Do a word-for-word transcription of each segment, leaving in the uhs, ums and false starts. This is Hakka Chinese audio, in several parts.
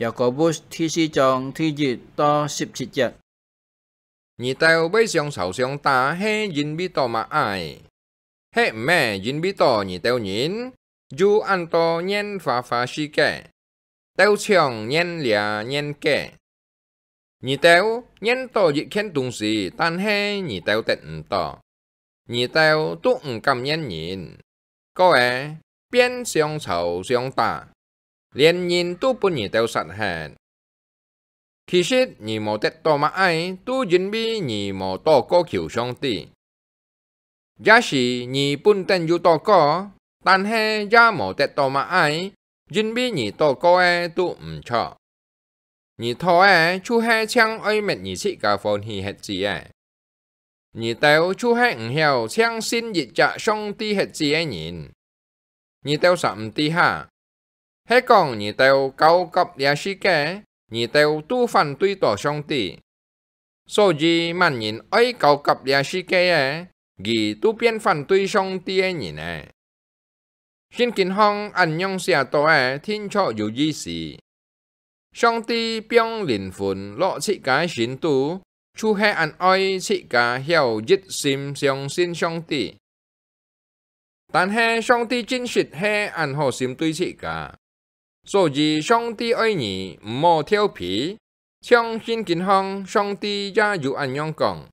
Yakobus第四章第一到十七節。你兜會相吵相打，係因為到麼个？係毋係因為到你兜人又恁多拈花花世界，鬥搶拈這拈該？你兜拈到一件東西，但係你兜得毋到，你兜都毋感念人，過仔變相吵相打，連人都分你兜殺忒。其實你無得到麼个，都因為你無禱告求上帝。也許你本等有禱告，但係也無得到麼个，因為你禱告个都毋著。你討个就係淨愛搣你自家歡喜歇子个。你兜就係毋曉淨信一隻上帝歇子个人。你兜煞毋知哈？係講你兜交合這世界，你兜都反對到上帝。所以，麼人愛交合這世界个，佢都變反對上帝个人咧。聖經項恁樣寫到个，定著有意思。上帝放靈魂落自家个心肚，就係恁愛自家曉一心相信上帝。但係上帝真實係恁好心對自家，所以上帝愛你毋好調皮。像聖經項，上帝也有恁樣講：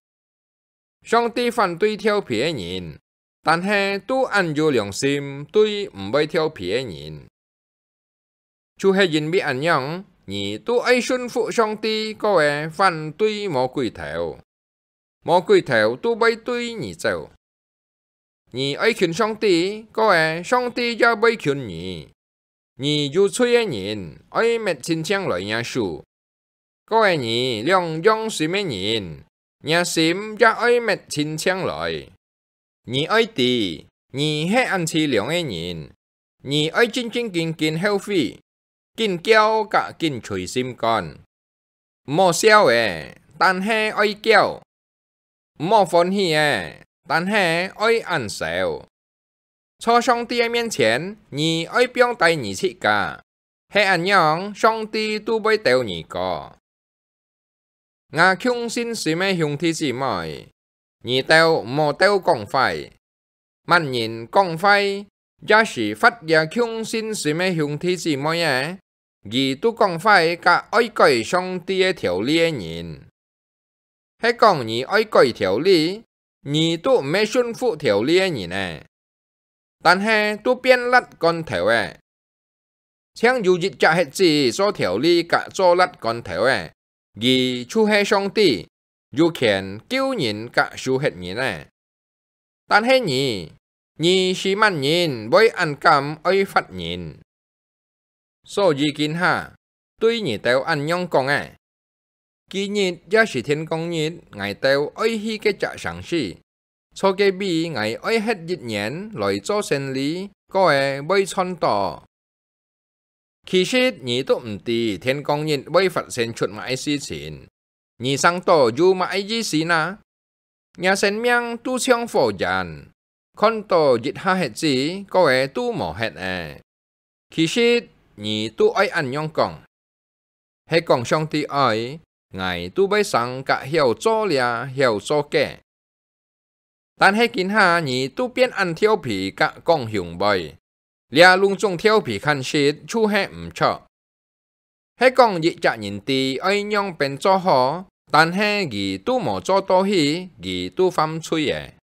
上帝反對調皮个人，但係都恁有良心對毋會調皮个人。就係因為恁樣，你都愛順服上帝，過仔反對魔鬼頭，魔鬼頭都會對你走。你愛近上帝，過仔上帝也會近你。你有罪个人，愛搣親淨來若手，過仔你兩樣心个人，若心也愛搣親淨來。你愛知，你係恁淒涼个人，你愛正正經經後悔，緊噭甲緊捶心肝。毋好笑仔，但係愛噭；毋好歡喜仔，但係愛恁愁。在上帝个面前，你愛放低你自家，係恁樣，上帝都會兜你過。吾共信心个兄弟姊妹，你兜毋好鬥講壞。麼人講壞，也係罰這共信心个兄弟姊妹仔，佢都講壞甲愛改上帝个條例个人。係講你愛改條例，你都毋係順服條例个人咧，但係都變辣罐頭咧。淨有一隻歇子做條例甲做辣罐頭咧，佢就係上帝，有權救人甲收忒人咧。但係你，你係麼人會恁敢愛罰人？所以今下，對你兜恁樣講咧：今日也係天光日，𠊎兜愛去該隻城市，在該位𠊎愛歇一年來做生理，過仔會賺到。其實你都毋知天光日會發生出麼个事情，你生到有麼个意思哪？若生命都像火焰，看到一下歇子，過仔都無忒咧。其實你都愛恁樣講：係講上帝愛，𠊎都會生甲曉做這曉做該。但係今下你都變恁調皮甲講雄話，這攏總調皮看實就係毋著。係講一隻人知愛仰般做好，但係佢都無做到去，佢都犯罪咧。